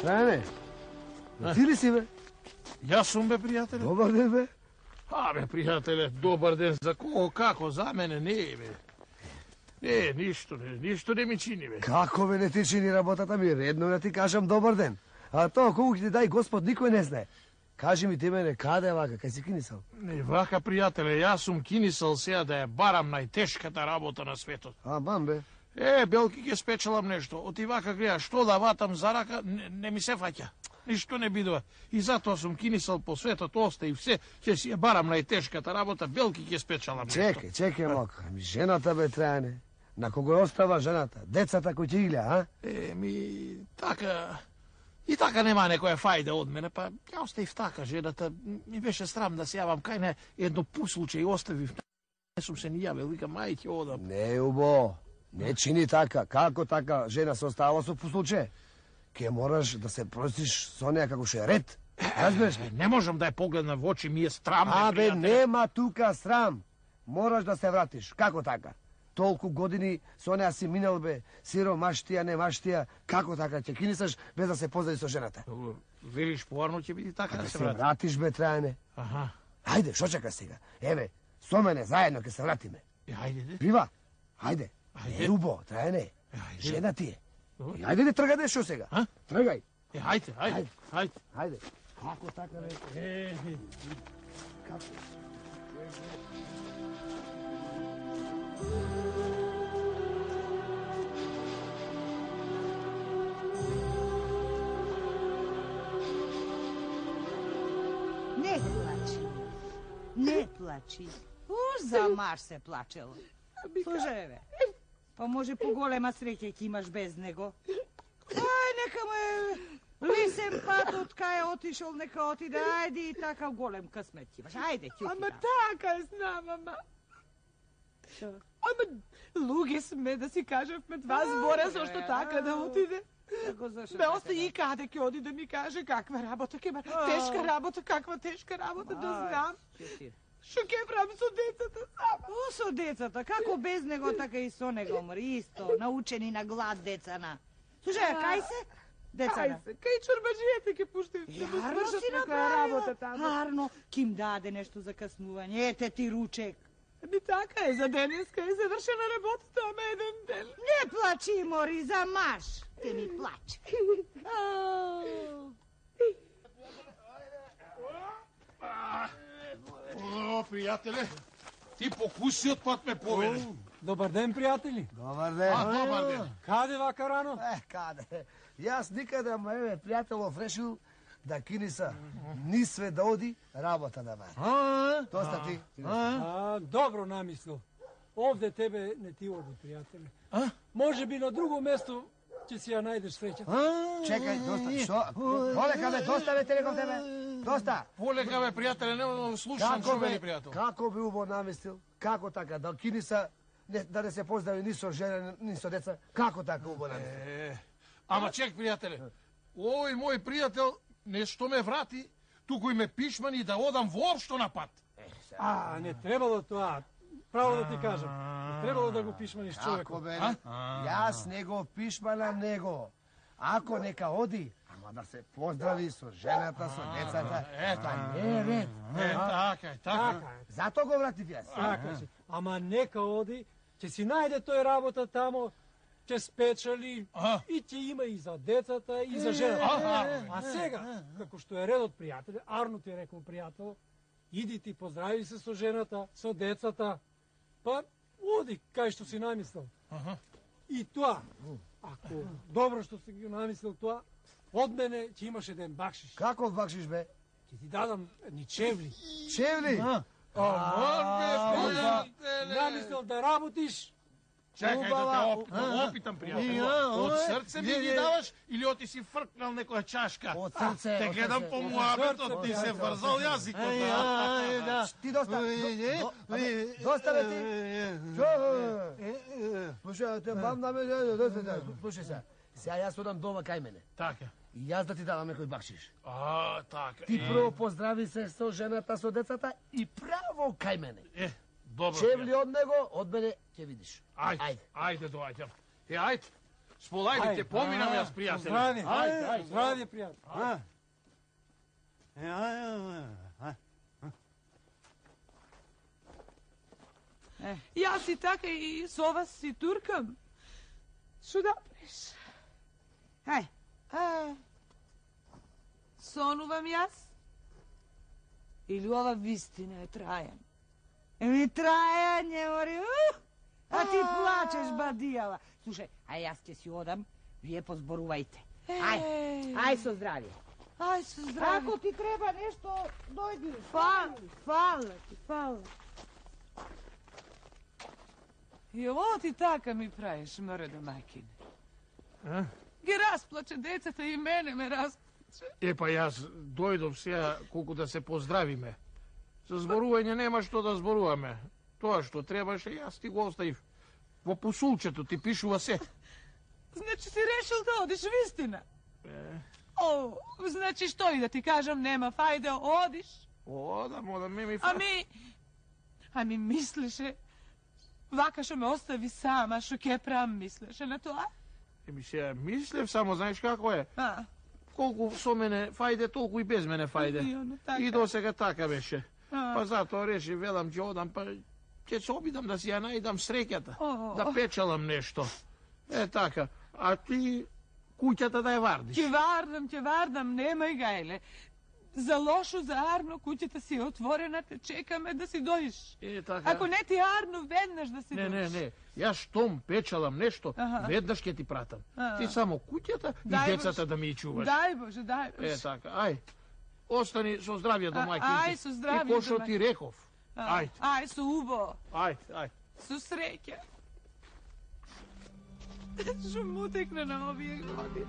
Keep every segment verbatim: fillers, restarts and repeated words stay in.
Трајане, ти ли си, бе? Јас сум, бе, пријателе. Добар ден, бе. А, бе, пријателе, добар ден за кого, како, за мене не, бе. Не, ништо не, ништо не ми чини, бе. Како бе не ти чини работата ми, редно да ти кажам добар ден. А тоа колку ќе ти дај Господ никој не знае. Кажи ми ти мене, каде е вака, кај си кинисал? Не, вака, пријателе, јас сум кинисал сега да ја барам најтешката работа на светот. А, бам, бе. Е, белки, ќе спечелам нешто. Оти вака гледа, што да ватам за рака, не, не ми се фаќа. Ништо не бидува. И затоа сум кинисал по светот, оста и все, ќе си ја барам најтешката работа, белки ќе спечелам нешто. Чекај, чекај малку. Ами жената, бе, Трајане. На кого остава жената? Децата кои ќе игледа, а? Е, ми, така... И така нема некоја фајда од мене, па ја оставив така жената. Ми беше срам да се јавам кај не едно пу случај оставив. Не сум се ни јавил, вика, мај ќе одам. Не, убо. Не чини така. Како така жена се остава со послуче? Ке мораш да се простиш со неја како што е ред. Разбираш? Не можам да ја погледнам во очи, ми е срам. А, бе, нема тука срам. Мораш да се вратиш. Како така? Толку години со неја си минал, бе, сиро маштија, не маштија, како така ќе кинисаш без да се познаеш со жената? Велиш, поарно ќе биде така да, да се се врати. вратиш, бе, Трајане. Аха. Ајде, шо чека сега? Еве, со мене заедно ќе се вратиме. Е, ајде, де. Пива? Ајде. Ајде. Не, убо, Трајане. Ајде. Жена ти е. Добро. И ајде да тргаде шо сега? А? Тргај. Е, ајде, ајде, ајде. Ајде. Како така, бе? Е, е. Како? Не плачи. Не плачи. Уж за маж се плачело. Слушај, бе. Па може поголема среќа ќе имаш без него. Ај, нека му е лисен пат од кај е отишол, нека отиде. Ајде и така голем късмет ќе имаш. Ајде, ќе Ама така знам, ама. Шо? Ама луѓе сме да си кажавме два збора зашто така да отиде. Како зашо? Бе, оста и каде ќе оди да ми каже каква работа ќе има. Тешка работа, каква тешка работа, да знам. Шо ќе правам со децата сама? О, со децата, како без него, така и со него, мори, исто, научени на глад децана. Слушај, кај се? Децана. Кај се, кај чорбаджијата ќе пуштим да му Арно свршат си некоја работа таму. Арно, ки им даде нешто за каснување, ете ти ручек. Би така е, за денеска е завршена работата, ама еден ден. Не плачи, мори, за маж. Те ми плаче. О, пријателе, ти покуси од пат ме поведе. Добар ден, пријатели. Добар ден. А, добар ден. Каде вака рано? Е, каде? Јас никаде, ама еве, пријателов решил да киниса ни све да оди, работа да бара. А, Доста ти. а, добро намислил. Овде тебе не ти оди, пријателе. А? Може би на друго место ќе си ја најдеш среќа. Чекај, доста. Што? Полека, бе, доста, бе, те реков тебе. Доста. Полека, бе, пријателе, не да слушам Како што бе, вели пријател. како би убаво намислил? Како така? Да киниса, не, да не се поздрави ни со жена, ни со деца? Како така убаво намислил? Е, ама чек, пријателе, овој мој пријател нешто ме врати, туку и ме пишмани да одам воопшто на пат. А, не требало тоа. Право да ти кажам. Не требало да го пишманиш Како човекот. бе? Јас не го пишманам него. Ако нека оди, ама да се поздрави со жената, со децата. Ето, Не, не. е, така е, така. Така е. Зато го вратив јас. Така си. Ама нека оди, ќе си најде тој работа тамо, ќе спечали Аха. и ќе има и за децата и за жената. Аха. А сега, како што е редот, пријателе, Арно ти е рекол пријател, иди ти поздрави се со жената, со децата, па оди кај што си намислил. Аха. И тоа, ако добро што си ги намислил тоа, од мене ќе имаш еден бакшиш. Каков бакшиш бе? Ќе ти дадам ни чевли. Чевли? Ама, бе, пријателе. Намислил да работиш, Чекај да те оп, да опитам, пријател. Од срце ми ги даваш или оти си фркнал некоја чашка? Од срце. Те од гледам срце. по муабетот, ти се врзал јазикот. Ти доста. до- до- Доста бе ти. Чо? Слушај, те бам да ме... Слушај се. Сега јас одам дома кај мене. Така. И јас да ти давам некој бакшиш. А, така. Ти прво поздрави се со жената, со децата и право кај мене. Е, добро. Чевли од него, од мене ќе видиш. Ајде, Ајде. ајде, доаѓам. Е, ајде. Сполајде, те поминам јас, пријателе. Здраве, Ајде, ајде. здраве, пријател. А? Е, ај, ај, ај. Јас и така и со вас си туркам. Што да преш? Ај, А, сонувам јас? Или ова вистина е Трајан? еми Трајан не мори, ух! А ти плачеш, бадијава. Слушај, а јас ќе си одам, вие позборувајте. Ај, ај со здравје. Ај, со здраве. Ако ти треба нешто, дојди. Фала, фала ти, фала. И ово ти така ми правиш, мре домакин. А? Ги расплаче децата и мене ме расплаче. Е, па јас дојдов сега колку да се поздравиме. За зборување нема што да зборуваме. Тоа што требаше, јас ти го оставив. Во посулчето ти пишува се. Значи си решил да одиш вистина? Е, О, значи што и да ти кажам, нема фајде, одиш. одам, одам, ме ми... Ами, ами мислеше, вака што ме остави сама, што ќе правам, мислеше на тоа? Еми сега, мислев само, знаеш како е? А, Колку со мене фајде, толку и без мене фајде. И оно така. И до сега така беше. А. Па затоа реши, велам, ќе одам, па ќе се обидам да си ја најдам среќата. О. Да печелам нешто. Е така. А ти куќата да ја вардиш. ќе вардам, ќе вардам, немај гајле. За лошо, за Арно, куќата си е отворена, те чекаме да си дојдеш. Е така. Ако не ти Арно, веднаш да си Не, дојдеш. не, не. Јас штом печелам нешто, Аха. веднаш ќе ти пратам. А. Ти само куќата и Дај, децата Боже. да ми ја чуваш. Дај Боже, дај Боже. Е така. Ај. Остани со здравје до А, мајките. ај, со здравје И ко што до ти реков. А, Ајде, Ај, со убо, ајде, ајде. со среќа. Што му текна на овие години.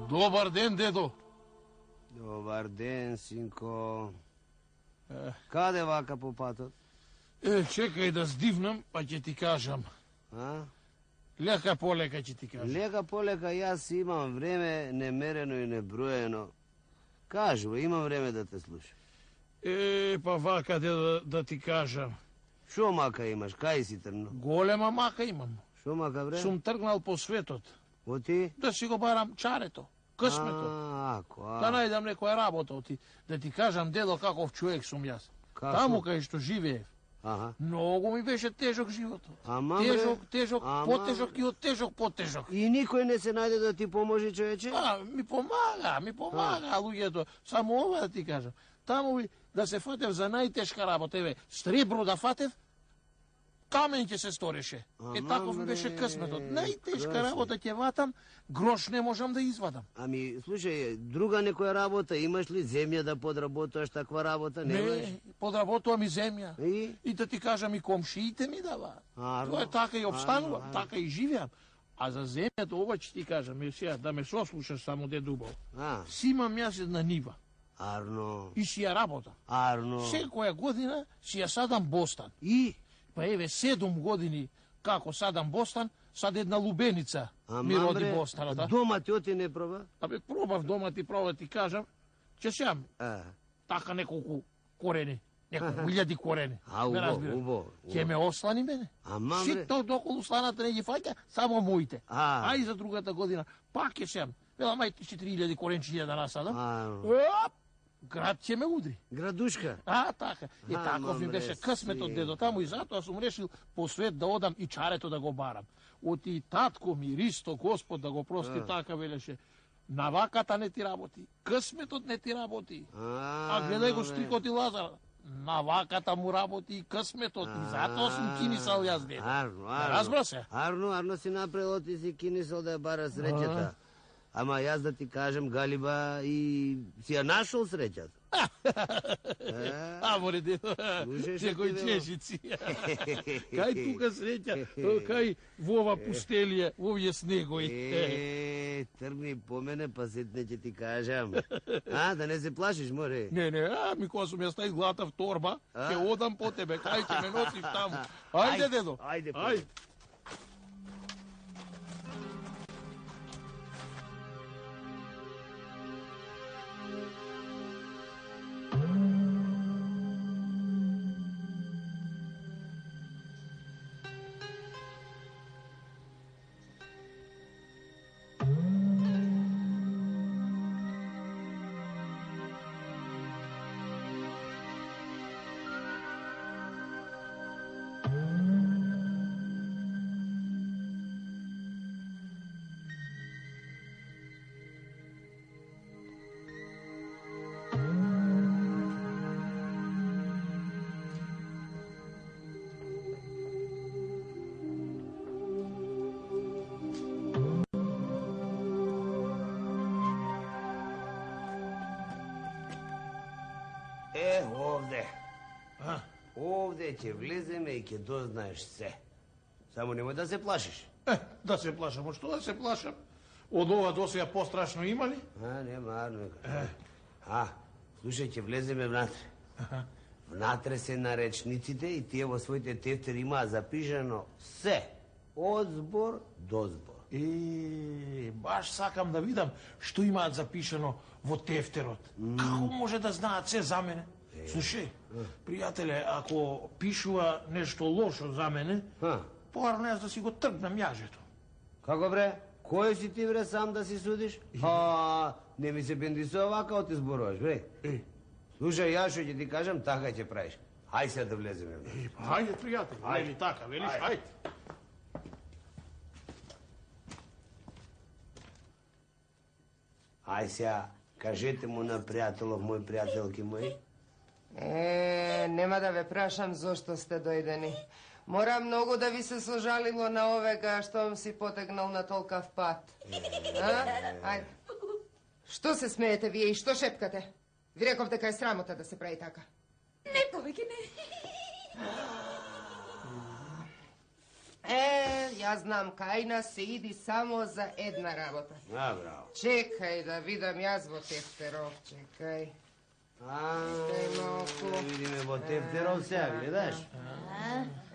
Добар ден, дедо. Добар ден, синко. Е. Каде вака по патот? Е, чекај да здивнам, па ќе ти кажам. А? Лека полека ќе ти кажам. Лека полека, јас имам време немерено и неброено. Кажува, имам време да те слушам. Е, па вака дедо да ти кажам. Шо мака имаш, кај си тргнал? Голема мака имам. Шо мака бре? Сум тргнал по светот. Оти? Да си го барам чарето, късмето. А, ако, а. Да најдам некоја работа оти. Да ти кажам, дедо, каков човек сум јас. Како? Таму кај што живеев. Аха. Многу ми беше тежок животот. Ама, бре. Тежок, тежок, Ама, потежок и од тежок потежок. И никој не се најде да ти поможи, човече? А, ми помага, ми помага луѓето. Само ова да ти кажам. Таму ви да се фатев за најтешка работа, еве, сребро да фатев, камен ќе се стореше. Е, Ама, таков ми бре, беше късметот. Најтешка красни. работа ќе ватам, грош не можам да извадам. Ами, слушај, друга некоја работа, имаш ли земја да подработуваш таква работа? Немаш? Не, подработувам и земја. И? И да ти кажам, и комшиите ми даваат. Арно, Тоа е така и обстанувам, арно, така и живеам. А за земјата, ова ќе ти кажам, е сега, да ме сослушаш само де дубов. А, Си имам јас една нива Арно, и си ја работам. Арно. Секоја година си ја садам бостан. И? Па еве, седум години како садам бостан, сад една лубеница ми Ама, роди бре, бостаната. дома ти оти не проба? Абе, пробав дома ти пробав ти кажам, ќе сеам. А, така неколку корени. Неколку илјади корени. А, убо, убо. Ќе ме ослани мене. Ама, бре. Ситто доколу сланата не ги фаќа, само моите. А. А и за другата година пак ќе сеам. Вела, мај четири илјади коренчиња да насадам. А. Оп! Град ќе ме удри. Градушка. А, така. И Ама, таков ми бре, беше късметот си. дедо таму и затоа сум решил по свет да одам и чарето да го барам. Оти татко ми, Ристо, Господ да го прости, така велеше. Наваката не ти работи, късметот не ти работи. А гледај го стрикот и Лазар. Наваката му работи и късметот. И затоа сум кинисал јас дедо. Арно, арно. Разбра се? Арно, арно си направил, ти си кинисал да ја бара среќата. Ама јас да ти кажем, Галиба, и си ја нашол среќата. А, море дедо, Слушаш, некој ти, чешици. Кај тука среќа, кај во ова пустелија, во овие снегови. Е, тргни по мене, па сетне ќе ти кажам. А, да не се плашиш, море. Не, не, а, ми кога сум ја ста изглата в торба, ќе одам по тебе, кај ќе ме носиш таму. Ајде, дедо. Ајде, Ајде. Е, овде. А? Овде ќе влеземе и ќе дознаеш се. Само немој да се плашиш. Е, да се плашам, од што да се плашам? Од ова до сега пострашно има ли? А, нема, арно. А, слушај, ќе влеземе внатре. Внатре се наречниците и тие во своите тефтери имаа запишано се. Од збор до збор. Е, баш сакам да видам што имаат запишано во тефтерот. Како може да знаат се за мене? Слушај, пријателе, ако пишува нешто лошо за мене, Ха. порано јас да си го тргнам јажето. Како бре? Кој си ти бре сам да си судиш? А, не ми се бендисува вака ти зборуваш, бре. Е, Слушај, јас што ќе ти кажам, така ќе правиш. Хај се да влеземе. е, па, ајде, пријатели, Ајде. вели така, велиш, Ајде. ајде. Ај сега, кажете му на пријателов мој, пријателки мој. Е, нема да ве прашам зошто сте дојдени. Мора многу да ви се сожалило на овега што си потегнал на толкав пат. А? Ајде. Што се смеете вие и што шепкате? Ви реков дека е срамота да се прави така. Не, повеќе не. Е, јас знам, кај нас се иди само за една работа. А, браво. Чекај да видам јас во тефтеров, чекај. А, Чекај малку. да видиме во тефтеров сега, гледаш?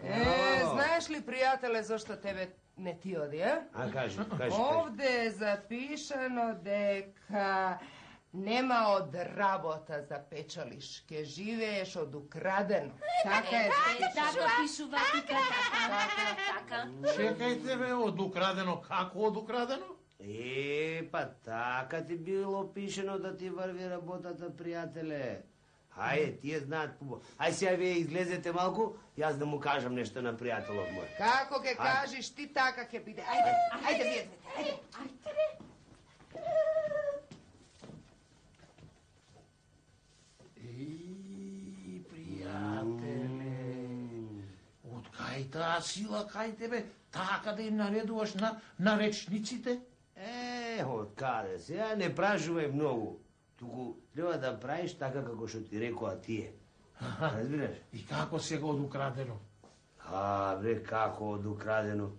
Е, знаеш ли, пријателе, зошто тебе не ти оди, а? А, кажи, кажи, кажи. Овде е запишано дека нема од работа за печалиш, ке живееш од украдено. Така е запишано. Така пишува тика, така, така. Чекајте бе, од украдено, како од украдено? Е, па така ти било пишено да ти врви работата, пријателе. Хајде, тие знаат пубо. Ај сега вие излезете малку, јас да му кажам нешто на пријателов мој. Како ке кажеш ти, така ке биде. Ајде, ајде вие двете, ајде. Еј, пријателе, од кај таа сила, кај тебе, така да им наредуваш на наречниците? Е, од каде сега не прашувај многу. Туку треба да правиш така како што ти рекоа тие. Разбираш? И како сега од украдено? А, бре, како од украдено.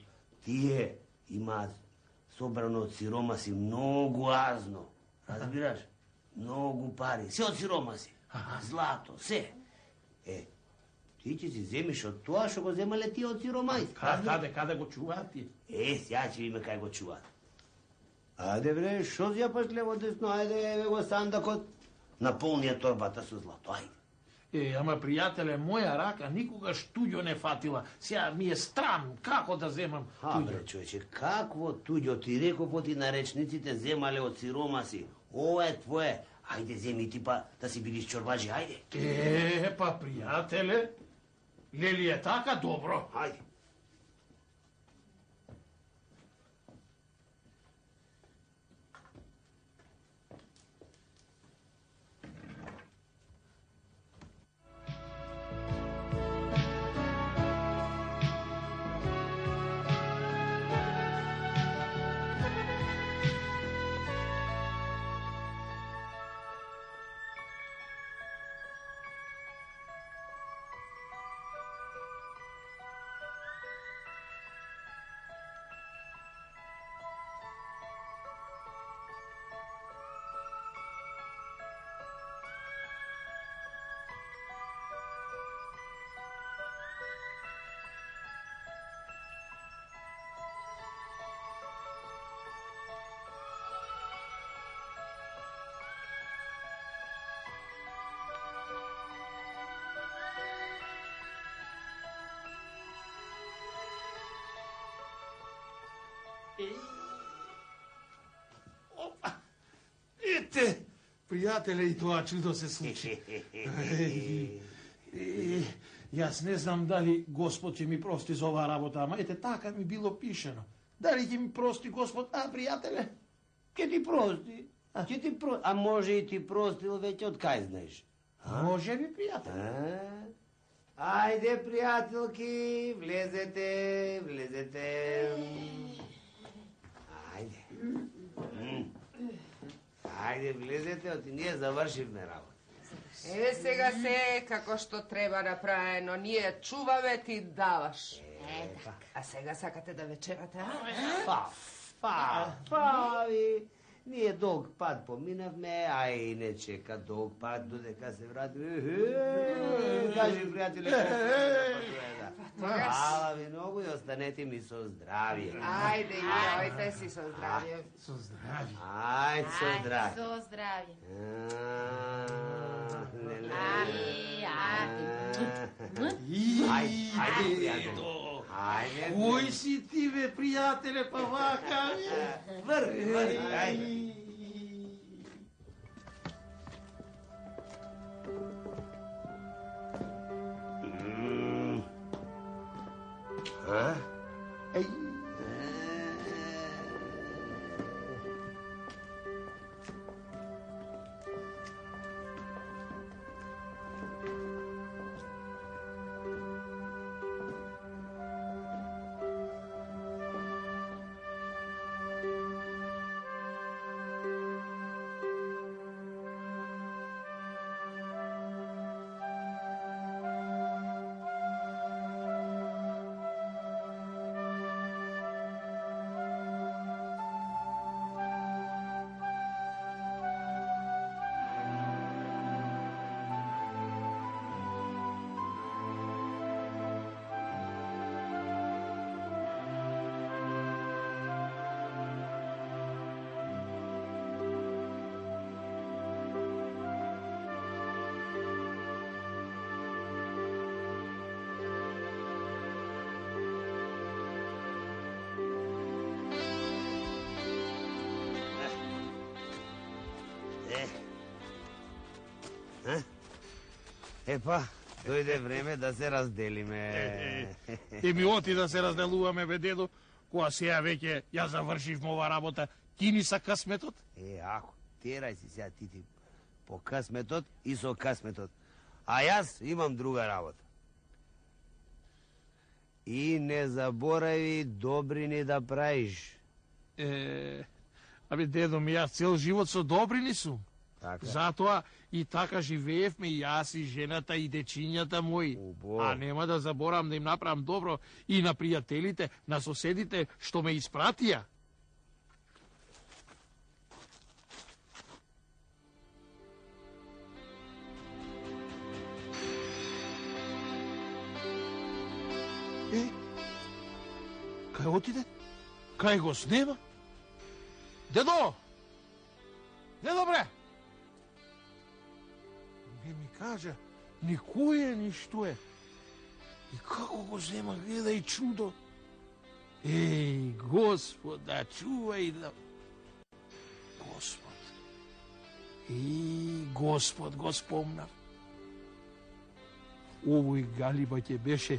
Тие имаат собрано од сиромаси многу азно. Разбираш? Многу пари. Се од сиромаси. Злато, се. Е, ти ќе си земиш од тоа што го земале тие од сиромаси. Каде, каде го чуваат тие? Е, сега ќе видиме кај го чуваат. Ајде бре, шо ја паш лево десно, ајде еве го сандакот. наполнија торбата со злато, ајде. Е, ама пријателе, моја рака никогаш туѓо не фатила. Сега ми е страм како да земам А, туѓо. бре, човече, какво туѓо? Ти реков ти наречниците земале од сиромаси. Ова е твое. Ајде, земи ти па да си бидиш чорбаджи, ајде. Е, па пријателе, лели е така добро. Ајде. Опа! Ете, пријателе, и тоа чудо се случи. Е, јас не знам дали Господ ќе ми прости за оваа работа, ама ете, така ми било пишено. Дали ќе ми прости Господ, а, пријателе? Ке ти прости. Ќе ти прости. А може и ти простил веќе од кај знаеш. Може би, пријателе. А? Ајде, пријателки, влезете, влезете. Ајде. М. Ајде, влезете, оти ние завршивме работа. Е, сега се како што треба направено. Ние чуваме, ти даваш. Е, па. А сега сакате да вечерате, а? Па, па, па, ви. Ние долг пат поминавме, а и не чека долг пат додека се вратиме. Кажи, пријателе, Хвала ви многу и останете ми со здравје. Ајде, јавајте си со здравје. Со здравје. Ајде, со здравје. Со здравје. Ајде, ајде, пријателе. Ајде. Кој си ти, бе, пријателе, па вака, бе? Врви, врви, ајде. А? Еј. Епа, дојде време да се разделиме. Еми оти да се разделуваме, бе, дедо, кога сега веќе ја завршивме ова работа, ти ни са късметот? Е, ако, терај си сега ти ти по късметот и со късметот. А јас имам друга работа. И не заборави добрини да правиш. Е, абе, дедо ми, јас цел живот со добрини сум. Така. Затоа и така живеевме и јас и жената и дечињата мои. Убаво. А нема да заборам да им направам добро и на пријателите, на соседите што ме испратија. Е, кај отиде? Кај го снема? Дедо! Дедо, бре! кажа, ни кој е, ни што е. И како го зема, гледај чудо. Еј, Господ, да чувај да... Господ. И Господ го спомнав. Овој галиба ќе беше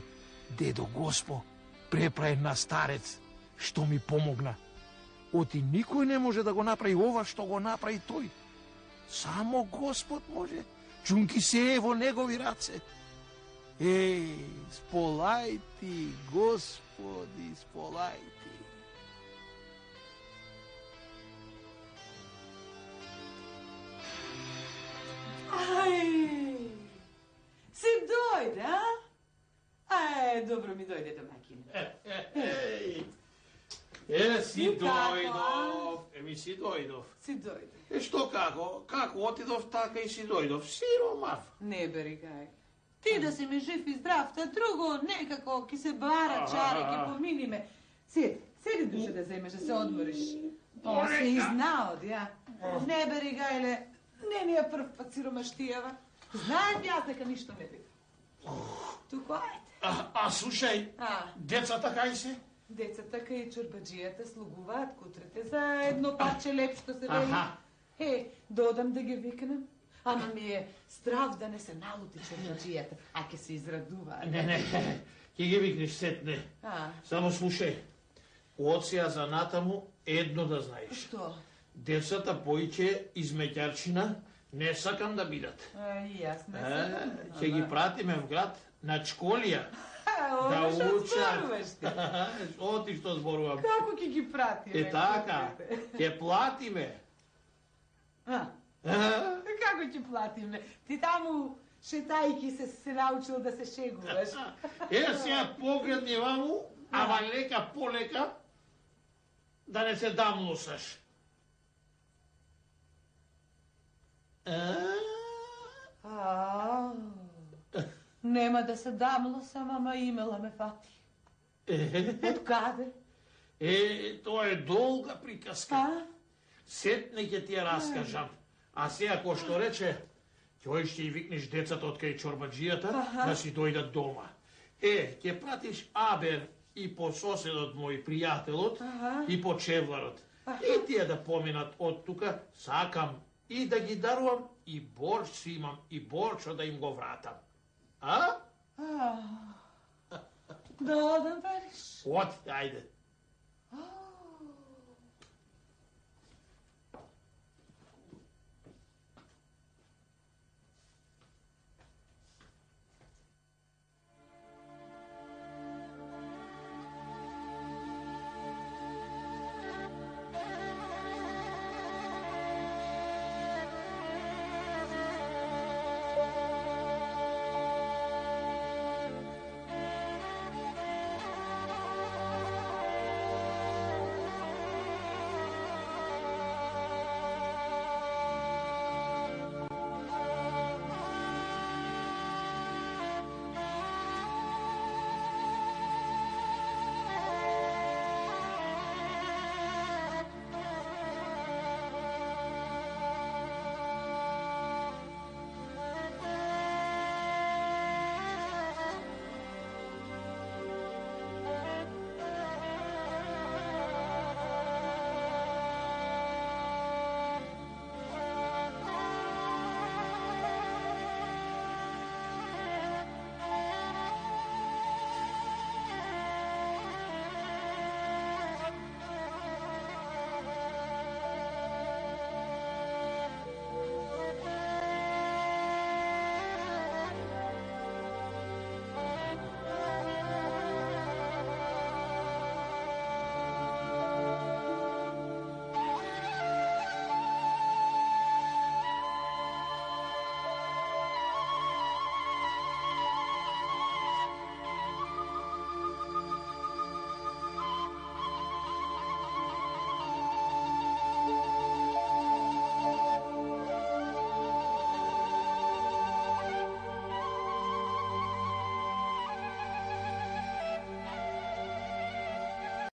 дедо Госпо, препраен на старец, што ми помогна. Оти никој не може да го направи ова што го направи тој. Само Господ може. Чунки се е во негови раце. Еј, сполај ти, Господи, сполај ти. Ај, си дојде, а? Ај, добро ми дојде домакине. Еј, е, си дојдов, еми си дојдов. Си дојде. Е, што како? Како отидов, така и си дојдов. Сиромав. Не бери кај. Ти да си ме жив и здрав, та друго некако ки се бара чаре, ки поминиме. Седи, седи душе да земеш, да се одмориш. О, се изнаод, ја. Не бери гајле, не ми е прв пат сиромаштијава. Знаем јас дека ништо не бива. Туку ајде. А, а слушај, А, децата кај се? децата кај чорбаджијата слугуваат кутрете за едно парче леп што се вели. Аха. Е, додам да ги викнем. Ама ми е страв да не се налути чорбаджијата, а ке се израдуваат. Не, не, ќе ги викнеш сетне. А, Само слушај, од сега за натаму едно да знаеш. што? Децата поиќе измеќарчина не сакам да бидат. А, и јас не Е, сакам. ќе ги пратиме в град на школија. А, Да ова што учат. зборуваш ти? Оти што зборувам. Како ќе ги пратиме? Е така, ќе платиме. А, А? како ќе платиме? Ти таму шетајки се се научил да се шегуваш. Е, сега погледни ваму, ама лека полека, да не се дамлосаш. А? А, нема да се дамлосам, ама имела ме фати. Е, Од каде? е, тоа е долга приказка. А? Сетне ќе ти ја раскажам. А сега, кој што рече, ќе ќе и викнеш децата од кај чорбаджијата да си дојдат дома. Е, ќе пратиш Абер и по соседот мој пријателот Аха. и по чевларот. И тие да поминат од тука, сакам и да ги дарувам и борч си имам и борчо да им го вратам. А? А, да одам, вериш? От, ајде. А,